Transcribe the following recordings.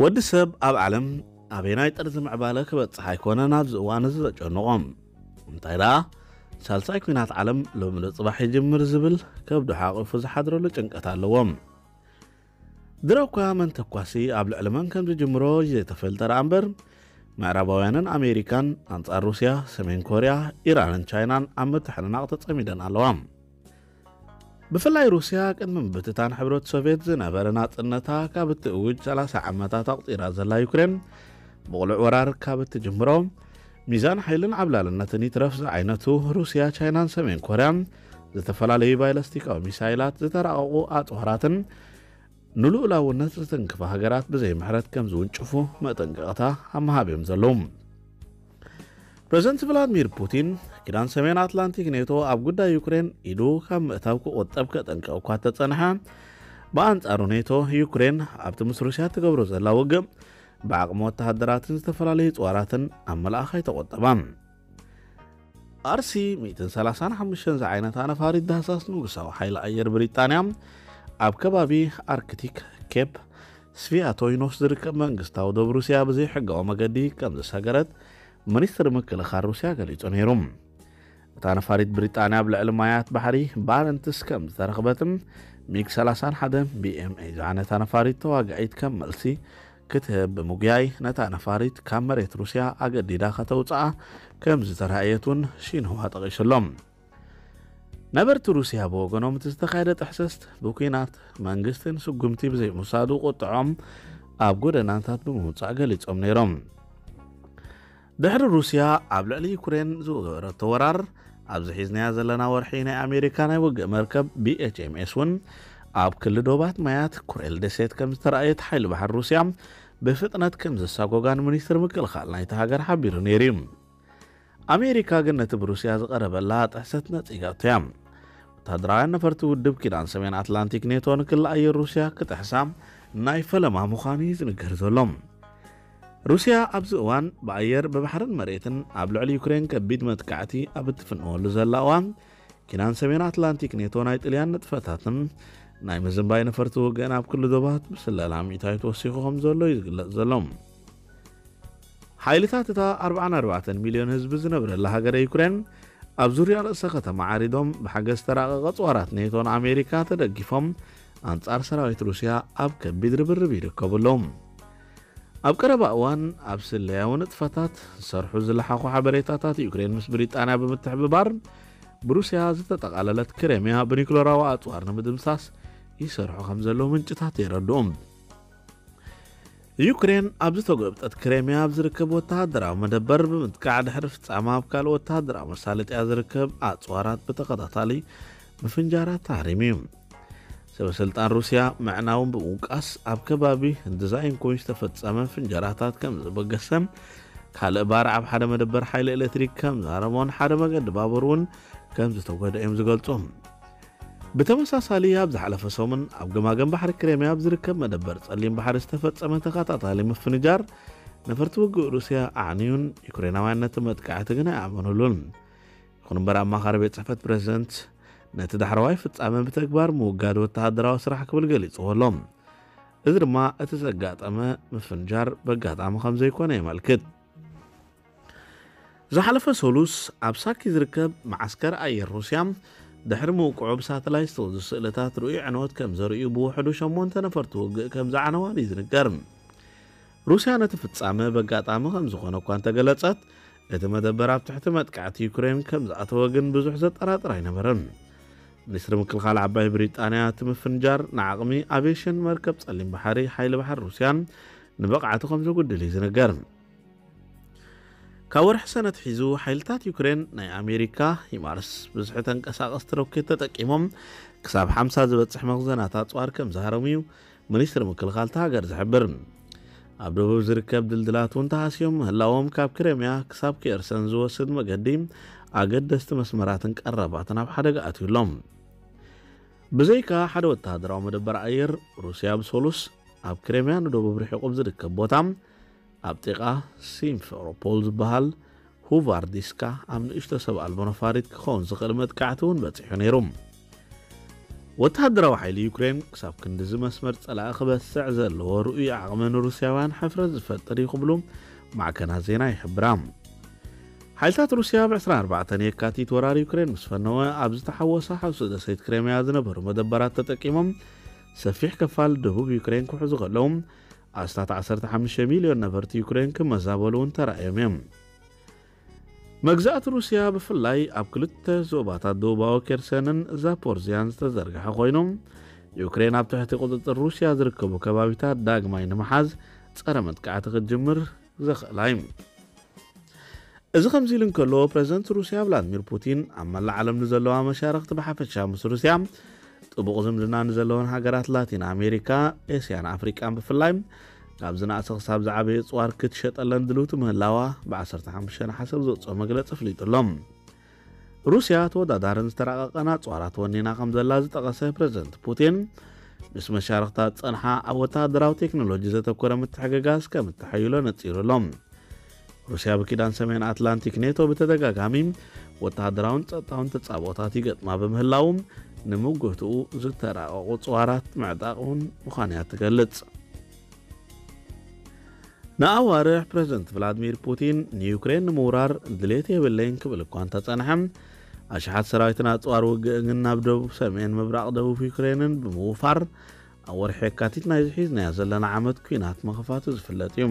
ወዲ ሰብ ኣብ ዓለም ኣበየናይ ጥርዚ ምዕባለ ክበጽሕ ኣይኮነን ኣብዚ እዋን እዚ ዘጨንቖም። እንታይ ደኣ፣ ሳልሳይ ኲናት ዓለም ሎሚ ዶ ጽባሕ ይጅምር ዝብል ከብዱ ሓቒፉ ዝሓድረሉ ጭንቀት ኣለዎም። ድሮ እኳ መን ተኳሲ ኣብ ልዕሊ መን ከም ዝጅምሮ ዘይተፈልጠ ደኣ እምበር፣ ምዕራባውያንን ኣሜሪካን ኣንጻር ሩስያ፣ ሰሜን ኮርያ፣ ኢራንን ቻይናን ኣብ ምትሕንናቕ ተጸሚደን ኣለዋ። ብፍላይ ሩስያ ቅድሚ ምብትታን ሕብረት ሶቭየት ዝነበረ ናጽነታ ካብ እትእውጅ ሰላሳ ዓመታት ኣቑጺራ ዘላ ዩክሬን፣ ብቕሉዕ ወራር ካብ እትጅምሮ፣ ሚዛን ሓይልን ዓብላልነትን ይትረፍ ዝዓይነቱ ሩስያ፣ ቻይናን ሰሜን ኮርያን ዝተፈላለዩ ባይለስቲካዊ ሚሳይላት፣ ዝተራቐቑ ኣጽዋራትን ንልኡላውነት ዝትንክፋ ሃገራት ብዘይ ምሕረት ከም ዝውንጭፉ መጠንቀቕታ ኣብ ምሃብ እዮም ዘለዉ። ፕረዚደንት ቭላድሚር ፑቲን፣ ኪዳን ሰሜን ኣትላንቲክ ኔቶ ኣብ ጉዳይ ዩክሬን ኢዱ ካብ ምእታው ክቑጠብ ከጠንቅቕ እኳ ተጸንሐ፣ ብኣንጻሩ ኔቶ ዩክሬን ኣብቲ ምስ ሩስያ ትገብሮ ዘላ ውግእ ብዓቕሚ ወተሃደራትን ዝተፈላለዩ ጽዋራትን ኣብ ምልኣኽ ኣይተቖጠባን። ኣርሲ ሚእትን ሰላሳን ሓሙሽተን ዝዓይነታ ነፋሪት ዳህሳስ ንጉሳዊ ሓይሊ ኣየር ብሪጣንያ ኣብ ከባቢ ኣርክቲክ ኬፕ ስቪያቶይኖስ ዝርከብ መንግስታዊ ዶብ ሩስያ ብዘይሕጋዊ መገዲ ከም ዝሰገረት ሚኒስትሪ ምክልኻል ሩስያ ገሊጹ ነይሩ። እታ ነፋሪት ብሪጣንያ ኣብ ልዕሊ ማያት ባሕሪ ባረንትስ ከም ዝተረኽበትን ሚግ ሰላሳን ሓደ ቢኤምኤ ዝዓይነታ ነፋሪት ተዋጋኢት ከም መልሲ ክትህብ ብምጉያይ ነታ ነፋሪት ካብ መሬት ሩስያ ኣገዲዳ ከተውፅኣ ከም ዝተራእየት እውን ሺንሁዋ ጠቒሱ ኣሎ። ነበርቲ ሩስያ ብወገኖም እቲ ዝተኻየደ ጥሕሰት ብኲናት መንግስትን ስጉምቲ ብዘይምውሳዱ ቁጥዖም ኣብ ጎደናታት ብምውፃእ ገሊፆም ነይሮም። ድሕሪ ሩስያ ኣብ ልዕሊ ዩክሬን ዝገበረቶ ወራር፣ ኣብዚ ሒዝናያ ዘለና ወርሒ ናይ ኣሜሪካ ናይ ውግእ መርከብ ቢኤችኤምኤስ እውን ኣብ ክሊ ዶባት ማያት ኩሬል ደሴት ከም ዝተራእየት ሓይሊ ባሕሪ ሩስያ ብፍጥነት ከም ዘሳጎጋን ሚኒስትሪ ምክልኻል ናይቲ ሃገር ሓቢሩ ነይሩ እዩ። ኣሜሪካ ግን ነቲ ብሩስያ ዝቐረበላ ጥሕሰት ነጺጋቶ እያ። ወተሃደራውያን ነፈርቲ ውድብ ኪዳን ሰሜን ኣትላንቲክ ኔቶ ንክሊ ኣየር ሩስያ ክጥሕሳ ናይ ፈለማ ምዃኑ እዩ ዝንገር ዘሎ። ሩስያ ኣብዚ እዋን ብኣየር፣ ብባሕርን መሬትን ኣብ ልዕሊ ዩክሬን ከቢድ መጥቃዕቲ ኣብ እትፍንወሉ ዘላ እዋን፣ ኪዳን ሰሜን ኣትላንቲክ ኔቶ ናይ ጥልያን ንጥፈታትን ናይ ምዝንባይ ነፈርቲ ውግእን ኣብ ክሊ ዶባት ብስለላ ሚእታዊት ወሲኹ ከም ዘሎ እዩ ዝግለጽ ዘሎ። ሓይልታት እታ ኣርባዓን ኣርባዕተን ሚልዮን ህዝቢ ዝነብረላ ሃገረ ዩክሬን ኣብ ዙርያ ርእሰ ከተማ ዓሪዶም ብሓገዝ ተራቐቐ ጽዋራት ኔቶን ኣሜሪካ ተደጊፎም ኣንጻር ሰራዊት ሩስያ ኣብ ከቢድ ርብርብ ይርከቡ ኣለዉ። ኣብ ቀረባ እዋን ኣብ ስለያዊ ንጥፈታት ዝሰርሑ ዝለሓኹ ሓበሬታታት ዩክሬን ምስ ብሪጣንያ ብምትሕብባር ብሩስያ ዝተጠቓለለት ክሬምያ ብኒክለራዊ ኣጽዋር ንምድምሳስ ይሰርሑ ከም ዘለዉ ምንጭታት የረድኡ። ዩክሬን ኣብ ዝተጎብጠት ክሬምያ ኣብ ዝርከብ ወተሃደራዊ መደበር ብምጥቃዕ ድሕሪ ፍጻመ ኣብ ካልእ ወተሃደራዊ መሳለጥያ ዝርከብ ኣጽዋራት ብተኸታታሊ ምፍንጃራት ተሃሪሙ እዩ። ሰበ ስልጣን ሩስያ ምዕናው ብምውቃስ ኣብ ከባቢ ዲዛይንኮ ዝተፈጸመ ፍንጀራታት ከም ዝበገሰ፣ ካልእ ባር ኣብ ሓደ መደበር ሓይሊ ኤሌክትሪክ ከም ዝሃረሞን ሓደ መገዲ ባቡር እውን ከም ዝተጎድአ እዮም ዝገልጹ። ብተመሳሳሊ ኣብ ዝሓለፈ ሰሙን ኣብ ገማገም ባሕሪ ክሬምያ ኣብ ዝርከብ መደበር ጸሊም ባሕሪ ዝተፈጸመ ተኸታታሊ ምፍንጃር ነፈርቲ ውግእ ሩስያ ኣዕንዩን ዩክሬናውያን ነቲ መጥቃዕቲ ግን ኣይኣመኑሉን። ይኹን እምበር ኣማኻሪ ቤት ጽሕፈት ፕሬዝደንት ነቲ ዳሕረዋይ ፍጻመ ብተግባር ምውጋድ ወተሃደራዊ ስራሕ ክብል ገሊጽዎ ኣሎ። እዚ ድማ እቲ ዘጋጠመ ምፍንጃር በጋጣሚ ከም ዘይኮነ የመልክት። ዝሓለፈ ሰሉስ ኣብ ሳኪ ዝርከብ መዓስከር ኣየር ሩስያ ድሕሪ ምውቅዑ ብሳተላይት ዝተወዙ ስእልታት ርኡይ ዕንወት ከም ዘርእዩ ብውሕዱ ሸሞንተ ነፈርቲ ውግእ ከም ዝዓነዋን እዩ ዝንገር። ሩስያ ነቲ ፍጻመ በጋጣሚ ከም ዝኾነ እኳ እንተገለጸት፣ እቲ መደበር ኣብ ትሕቲ መጥቃዕቲ ዩክሬን ከም ዝኣተወ ግን ብዙሕ ዘጠራጥር ኣይነበረን። ሚኒስትሪ ምክልኻል ዓባይ ብሪጣንያ እቲ ምፍንጃር ንዓቕሚ ኣቪየሽን መርከብ ጸሊም ባሕሪ ሓይሊ ባሕሪ ሩስያን ንብቕዓቱ ከም ዘጉድል እዩ ዝንገር። ካብ ወርሒ ሰነ ኣትሒዙ ሓይልታት ዩክሬን ናይ ኣሜሪካ ሂማርስ ብዝሒ ተንቀሳቐስቲ ሮኬት ተጠቂሞም ክሳብ ሓምሳ ዝበጽሕ መኽዘናት ኣጽዋር ከም ዝሃረሙ እዩ ሚኒስትሪ ምክልኻል እታ ሃገር ዝሕብር። ኣብ ደቡብ ዝርከብ ድልድላት እውን ተሃስዮም ምህላዎም ካብ ክሬምያ ክሳብ ኬርሰን ዝወስድ መገዲ ኣገደስቲ መስመራትን ቀረባትን ኣብ ሓደጋ ኣትዩ ኣሎ። ብዘይካ ሓደ ወተሃደራዊ መደበር ኣየር፣ ሩስያ ብሰሉስ ኣብ ክሬምያ ንደቡብ ርሒቑ ኣብ ዝርከብ ቦታ ኣብ ጥቓ ሲምፌሮፖል ዝበሃል ሁቫርዲስካ ኣብ ንእሽቶ ሰብ ኣልቦ ነፋሪት ክኸውን ዝኽእል መጥቃዕቲ እውን በጺሑ ነይሩ። ወተሃደራዊ ሓይሊ ዩክሬን ክሳብ ክንድዚ መስመር ጸላኢ ክበስዕ ዘለዎ ርኡይ ዓቕሚ ንሩስያውያን ሕፍረት ዝፈጥር እዩ ክብሉ ማዕከናት ዜና ይሕብራ። ሓይልታት ሩስያ ብ ዕስራን ኣርባዕተን የካቲት ወራር ዩክሬን ምስ ፈነወ፣ ኣብ ዝተሓወሰ ሓውሲ ደሴት ክሬምያ ዝነበሩ መደበራት ተጠቂሞም ሰፊሕ ክፋል ደቡብ ዩክሬን ክሕዙ ከለዉ፣ ኣስታት ዓሰርተ ሓሙሽተ ሚልዮን ነበርቲ ዩክሬን ክመዛበሉ እውን ተራእዮም እዮም። መግዛእቲ ሩስያ ብፍላይ ኣብ ክልተ ዞባታት ደቡባዊ ኬርሰንን ዛፖርዝያን ዝተዘርግሐ ኮይኑ፣ ዩክሬን ኣብ ትሕቲ ቁጽጽር ሩስያ ዝርከቡ ከባቢታት ዳግማይ ንምሓዝ ጸረ መጥቃዕቲ ክትጅምር ዘኽእላ እዩ። እዚ ከምዚ ኢሉ እንከሎ፣ ፕረዚደንት ሩስያ ቭላድሚር ፑቲን ኣብ መላእ ዓለም ንዘለዋ መሻርኽቲ ብሓፈሻ ምስ ሩስያ ጥቡቕ ዝምድና ንዘለወን ሃገራት ላቲን ኣሜሪካ፣ ኤስያን ኣፍሪቃን ብፍላይ ካብ ዝነኣሰ ክሳብ ዝዓበየ ጽዋር ክትሸጠለን ድልውቲ ምህላዋ ብ ዓሰርተ ሓሙሽተ ነሓሰ ኣብ ዘውፅኦ መግለጺ ኣፍሊጡ ኣሎ። ሩስያ ተወዳዳርን ዝተራቐቐን ኣጽዋራት ወኒና ከም ዘላ ዝጠቐሰ ፕረዚደንት ፑቲን፣ ምስ መሻርኽታ ዝጸንሓ ኣብ ወተሃደራዊ ቴክኖሎጂ ዘተኮረ ምትሕግጋዝ ከም እተሐይሎ ነጺሩ ኣሎ። ሩስያ ብኪዳን ሰሜን ኣትላንቲክ ኔቶ ብተደጋጋሚ ወተሃደራውን ጸጥታውን ተጻብኦታት ይገጥማ ብምህላው፣ ንምጉህትኡ ዝተራቐቑ ጽዋራት ምዕጣቕ እውን ምዃኑ እያ ትገልጽ። ንኣዋርሕ ፕረዚደንት ቭላድሚር ፑቲን ንዩክሬን ንምውራር ድሌት የብለይን ክብል እኳ እንተጸንሐ፣ ኣሽሓት ሰራዊትን ኣጽዋር ውግእን ናብ ደቡብ ሰሜን ምብራቕ ደቡብ ዩክሬንን ብምውፋር፣ ኣብ ወርሒ የካቲት ናይዚ ሒዝናዮ ዘለና ዓመት ኲናት ምኽፋቱ ዝፍለጥ እዩ።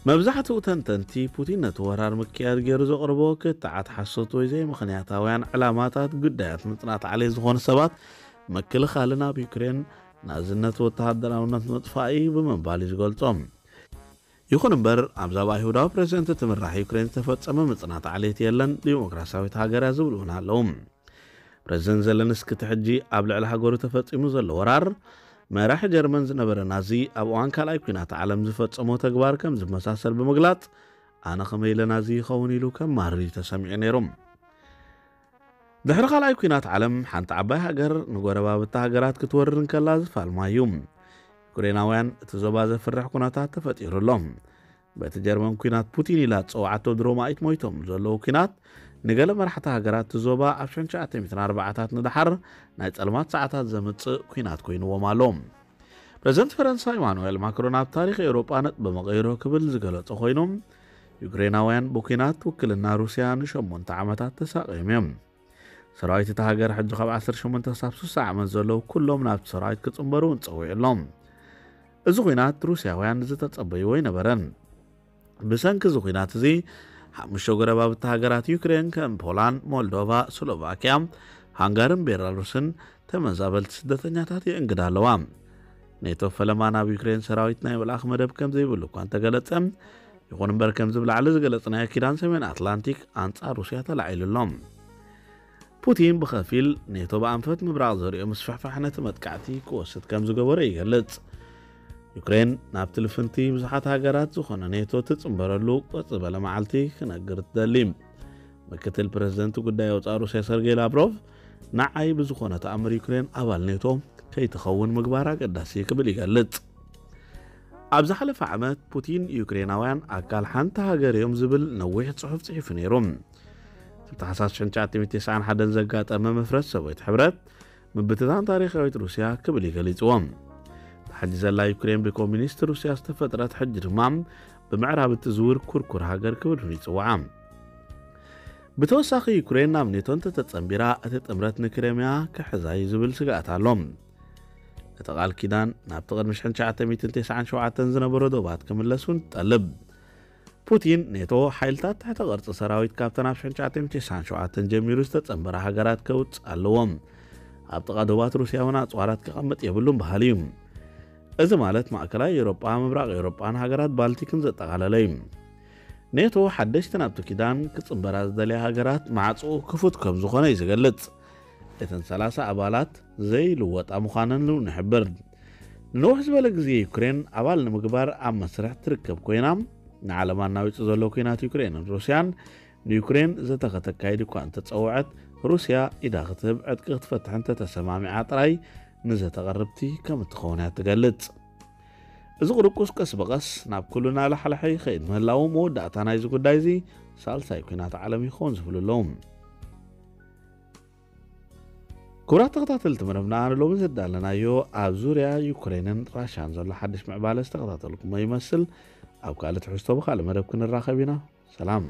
መብዛሕትኡ ተንተንቲ፣ ፑቲን ነቲ ወራር ምክያድ ገይሩ ዘቕርቦ ክትዓት ሓሶት ወይ ዘይምኽንያታውያን ዕላማታት፣ ግዳያት ምጽናት ዓሌት ዝኾኑ ሰባት ምክልኻልን ኣብ ዩክሬን ናዝነት ወተሃደራውነት ምጥፋእ እዩ ብምባል እዩ ዝገልጾም። ይኹን እምበር፣ ኣብ ዛባ ይሁዳዊ ፕረዚደንት እትምራሕ ዩክሬን ዝተፈጸመ ምጽናት ዓሌት የለን፣ ዲሞክራሲያዊት ሃገር እያ ዝብሉ እውን ኣለዉ። ፕረዚደንት ዘለንስኪ፣ እቲ ሕጂ ኣብ ልዕሊ ሃገሩ ተፈጺሙ ዘሎ ወራር፣ መራሒ ጀርመን ዝነበረ ናዚ ኣብ እዋን ካልኣይ ኲናት ዓለም ዝፈጸሞ ተግባር ከም ዝመሳሰል ብምግላጽ፣ ኣነ ከመይ ኢለ ናዚ ይኸውን ኢሉ ከማርር እዩ ተሰሚዑ ነይሩ። ድሕሪ ካልኣይ ኲናት ዓለም፣ ሓንቲ ዓባይ ሃገር ንጎረባብቲ ሃገራት ክትወርር እንከላ ዝፋልማ እዩ። ዩክሬናውያን እቲ ዞባ ዘፍርሕ ኩነታት ተፈጢሩ ኣሎ። በቲ ጀርመን ኲናት ፑቲን ኢላ ዝጸውዓቶ ድሮማይት ሞይቶም ዘለዉ ኲናት፣ ንገለ መራሕቲ ሃገራት እቲ ዞባ ኣብ ሽሕን ትሽዓተ ሚእትን ኣርባዓታት ንደሓር ናይ ጸልማት ሰዓታት ዘምጽእ ኲናት ኮይንዎም ኣሎ። ፕረዚደንት ፈረንሳ ኢማኑኤል ማክሮን ኣብ ታሪኽ ኤውሮጳ ነጥቢ መቐይሮ ክብል ዝገለጾ ኮይኑ፣ ዩክሬናውያን ብኲናት ውክልና ሩስያ ንሸሞንተ ዓመታት ተሳቕዮም እዮም። ሰራዊት እታ ሃገር ሕጂ ካብ ዓሰርተ ሸሞንተ ክሳብ ስሳ ዓመት ዘለዉ ኩሎም ናብቲ ሰራዊት ክጽንበሩ እውን ጸዊዑ ኣሎ። እዚ ኲናት ሩስያውያን ዝተጸበይዎ ኣይነበረን። ብሰንኪ እዚ ኲናት እዚ፣ ሓሙሽተ ጎረባብቲ ሃገራት ዩክሬን ከም ፖላንድ፣ ሞልዶቫ፣ ስሎቫኪያ፣ ሃንጋርን ቤላሩስን ተመዛበልቲ ስደተኛታት የእንግዳ ኣለዋ። ኔቶ ፈለማ ናብ ዩክሬን ሰራዊት ናይ ምልኣኽ መደብ ከም ዘይብሉ እኳ እንተገለጸ፣ ይኹን እምበር ከምዚ ብላዕሊ ዝገለጽናዮ ኪዳን ሰሜን ኣትላንቲክ ኣንጻር ሩስያ ተላዒሉ ኣሎ። ፑቲን ብኸፊል ኔቶ ብኣንፈት ምብራቕ ዘርእዮ ምስፍሕፋሕ ነቲ መጥቃዕቲ ክወስድ ከም ዝገበሮ ይገልጽ። ዩክሬን ናብቲ ልፍንቲ ብዙሓት ሃገራት ዝኾነ ኔቶ ትጽንበረሉ ቁርጽ ዝበለ መዓልቲ ክነግር ትደሊ። ምክትል ፕረዚደንት ጉዳይ ወጻኢ ሩስያ ሰርጌይ ላቭሮቭ፣ ንዓይ ብዝኾነ ተኣምር ዩክሬን ኣባል ኔቶ ከይትኸውን ምግባር ኣገዳሲ ክብል ይገልጽ። ኣብ ዝሓለፈ ዓመት ፑቲን፣ ዩክሬናውያን ኣካል ሓንቲ ሃገር እዮም ዝብል ነዊሕ ጽሑፍ ጽሒፉ ነይሩ። እቲ ታሕሳስ ሽሕን ትሽዓተ ሚእትን ተስዓን ሓደን ዘጋጠመ መፍረስ ሰብኣዊት ሕብረት፣ ምብትታን ታሪኻዊት ሩስያ ክብል እዩ ገሊጽዎ። ታሕጂ ዘላ ዩክሬን ብኮሚኒስት ሩስያ ዝተፈጥረት፣ ሕጂ ድማ ብምዕራብ እትዝውር ኩርኩር ሃገር ክብል እውን ይጽውዓ። ብተወሳኺ፣ ዩክሬን ናብ ኔቶ እንተተጸንቢራ፣ እቲ ጥምረት ንክሬምያ ክሕዛ እዩ ዝብል ስግኣት ኣሎ። እቲ ቃል ኪዳን ናብቲ ቅድሚ ሽሕን ትሽዓተ ሚእትን ተስዓን ሸውዓተን ዝነበሮ ዶባት ክምለስ እውን ትጠልብ። ፑቲን፣ ኔቶ ሓይልታት ትሕተ ቅርጺ ሰራዊት ካብተን ኣብ ሽሕን ትሽዓተ ሚእትን ተስዓን ሸውዓተን ጀሚሩ ዝተጸንበራ ሃገራት ከውጽእ ኣለዎ። ኣብ ጥቓ ዶባት ሩስያ እውን ኣጽዋራት ክቐምጥ የብሉን በሃሊ እዩ። እዚ ማለት ማእከላይ ኤውሮጳ፣ ምብራቕ ኤውሮጳን ሃገራት ባልቲክን ዘጠቓለለ እዩ። ኔቶ ሓደሽቲ ናብቲ ኪዳን ክጽንበራ ዝደልያ ሃገራት ማዕጾኡ ክፉት ከም ዝኾነ እዩ ዝገልጽ። እተን ሰላሳ ኣባላት ዘይልወጣ ምዃነን እውን ይሕብር። ንንውሕ ዝበለ ግዜ ዩክሬን ኣባል ንምግባር ኣብ መስርሕ ትርከብ ኮይና፣ ንዓለም ኣናዊጹ ዘሎ ኲናት ዩክሬንን ሩስያን፣ ንዩክሬን ዘተ ከተካይድ እኳ እንተጸውዐት፣ ሩስያ ኢዳ ክትህብ፣ ዕጥቂ ክትፈትሕ እንተተሰማሚዓ ጥራይ ንዘተ ቅርብቲ ከም እትኸውን እያ ትገልጽ። እዚ ቁርቁስ ቀስ ብቐስ ናብ ኩሉ እናላሕለሐ ይኸይድ ምህላዉ፣ መወዳእታ ናይዚ ጉዳይ እዚ ሳልሳይ ኲናት ዓለም ይኸውን ዝብሉ ኣለዉ። ክቡራት ተኸታተልቲ መደብና፣ ንሎሚ ዘዳለናዮ ኣብ ዙርያ ዩክሬንን ራሻን ዘሎ ሓድሽ ምዕባለ ዝተኸታተልኩሞ ይመስል። ኣብ ካልእ ትሕዝቶ ብኻልእ መደብ ክንራኸብ ኢና። ሰላም።